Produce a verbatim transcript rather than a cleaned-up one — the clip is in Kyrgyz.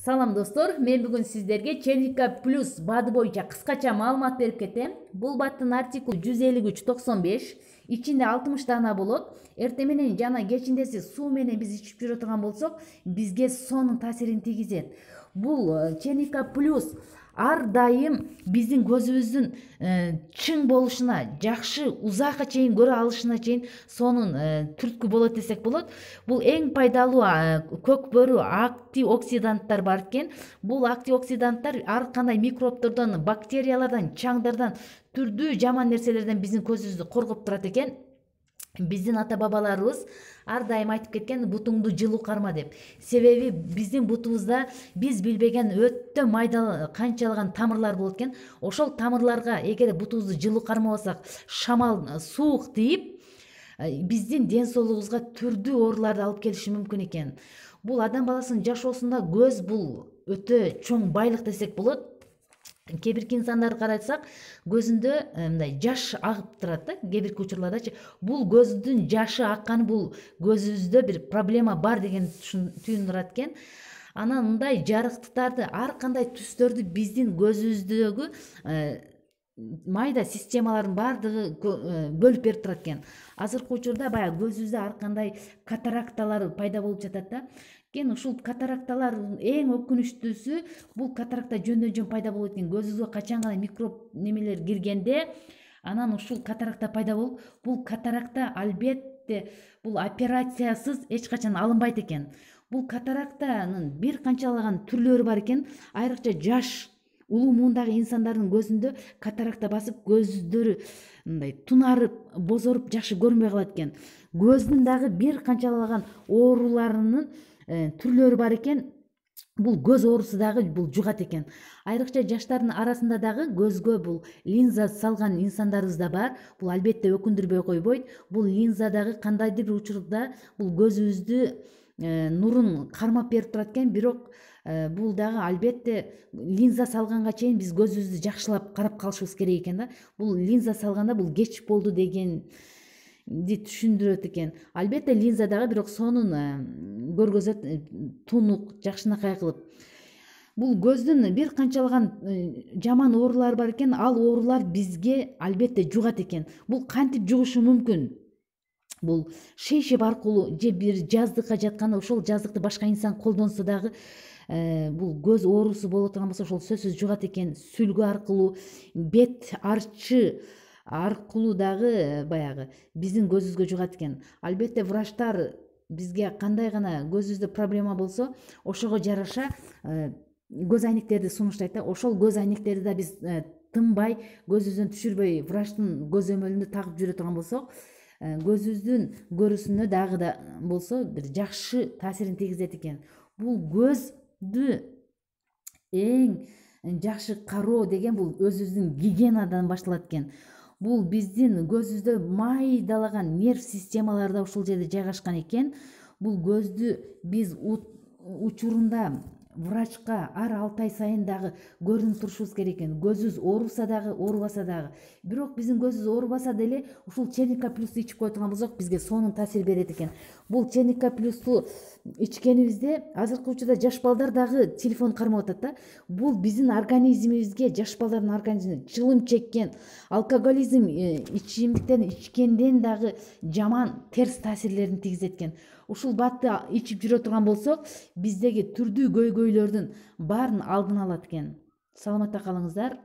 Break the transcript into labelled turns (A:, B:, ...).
A: Салам достор, мен бүгүн сиздерге Черника плюс баады боюнча кыскача маалымат берип кетем. Бул бааттын артикул жүз элүү үч токсон беш, ичинде алтымыш даана болот. Эртең менен жана кечиндеси суу менен биз ичип жүрө турган болсок, бизге сонун таасирин тийгизет. Бул Черника плюс ар дайым биздин көзүбүздүн чың болушуна, жакшы узакка чейин көрө алышына чейин сонун түрткү болот десек болот. Бул эң пайдалуу көкбөрү антиоксиданттар бар экен. Бул антиоксиданттар ар кандай микробтордон, бактериялардан, чаңдардан, түрдүү жаман нерселерден биздин көзүбүздү коргоп турат экен. Биздин ата бабаларыбыз ар дайым айтып кеткен бутуңду жылуу карма деп. Себеби биздин бутубузда биз билбеген өтө майда канчалаган тамырлар болот экен. Ошол тамырларга эгер бутубузду жылуу кармабасак, шамал, суук тийип, биздин ден соолугубузга түрдүү ооруларды алып келиши мүмкүн экен. Бул адам баласынын жашоосунда көз бул өтө чоң байлык десек болот. Кээ бирки инсандарды карасак, көзүндө мындай жаш агып турат да, кээ бирки учурлардачы. Бул көздүн жашы акканы бул көзүбүздө бир проблема бар деген түйүндүрат экен. Анан мындай жарыктыктарды, ар кандай түстөрдү биздин көзүбүздөгү майда системалардын баардыгы бөлүп берип турат экен. Азыркы учурда баягы көзүбүздө ар кандай катаракталар пайда болуп жатат да. Кен ушул катаракталар эң өкүнүчтүүсү, бул катаракта жөндөн жөн пайда болот экен. Көзүбүзгө качан гана микроб немелер киргенде, анан ушул катаракта пайда болуп, бул катаракта албетте бул операциясыз эч качан алынбайт экен. Бул катарактанын бир канчалаган түрлөрү бар экен. Айрыкча жаш улуу муундагы инсандардын көзүндө катаракта басып, көздөрү мындай тунарып, бозоруп, жакшы көрүнбөй калат экен. Көздүн дагы бир канчалаган ооруларынын түрлөрү бар экен. Бул көз оорусу дагы бул жугат экен. Айрыкча жаштардын арасында дагы көзгө бул линза салган инсандарыбыз да бар. Бул албетте өкүндүрбөй койбойт. Бул линза дагы кандайдыр бир учурда бул көзүбүздү нурун кармап берип турат экен. Бирок бул дагы албетте линза салганга чейин биз көзүбүздү жакшылап карап калышыбыз керек экен да. Бул линза салганда бул кеч болду деген ди түшүндүрөт экен. Албетте линза дагы бирок сонун көргөзөт, тунук, жакшынакай кылып. Бул көздүн бир канчалаган жаман оорулары бар экен. Ал оорулар бизге албетте жугат экен. Бул кантип жугушу мүмкүн? Бул шейшеп аркылуу же бир жаздыкка жатканда ошол жаздыкты башка инсан колдонсо дагы бул көз оорусу боло турган болсо ошол сөзсүз жугат экен. Сүлгү аркылуу, бет арчы аркылуу дагы баягы биздин көзүбүзгө жугат экен. Албетте врачтар бизге кандай гана көзүбүздө проблема болсо, ошого жараша көз айнектерди сунуштайт да. Ошол көз айнектерди да биз тынбай, көзүбүздөн түшүрбөй врачтын көзөмөлүндө тагып жүрө турган болсок, көзүбүздүн көрүүсүнө дагы да болсо бир жакшы таасирин тийгизет экен. Бул көздү эң жакшы кароо деген бул өзүбүздүн гигиенадан башталат экен. Бул биздин көзүбүздө майдалаган нерв системалары да ушул жерде жайгашкан экен. Бул көздү биз учурунда врачка ар алты ай сайын дагы көрүнүп турушубуз керек экен. Көзүбүз ооруса дагы, оорубаса дагы. Бирок биздин көзүбүз оорубаса деле ушул Черника плюсту ичип кое турган болсок, бизге сонун таасир берет экен. Бул Черника плюсту ичкенибизде азыркы учурда жаш балдар дагы телефон кармап атат да. Бул биздин организмибизге, жаш балдардын организмине чылым чеккен, алкоголизм ичимдиктерин ичкенден дагы жаман терс таасирлерин тийгизет экен. Ушул баатты ичип жүрө турган болсок, биздеги түрдүү көйгөйлөрдүн баарын алдын алат экен. Саламатта калыңыздар.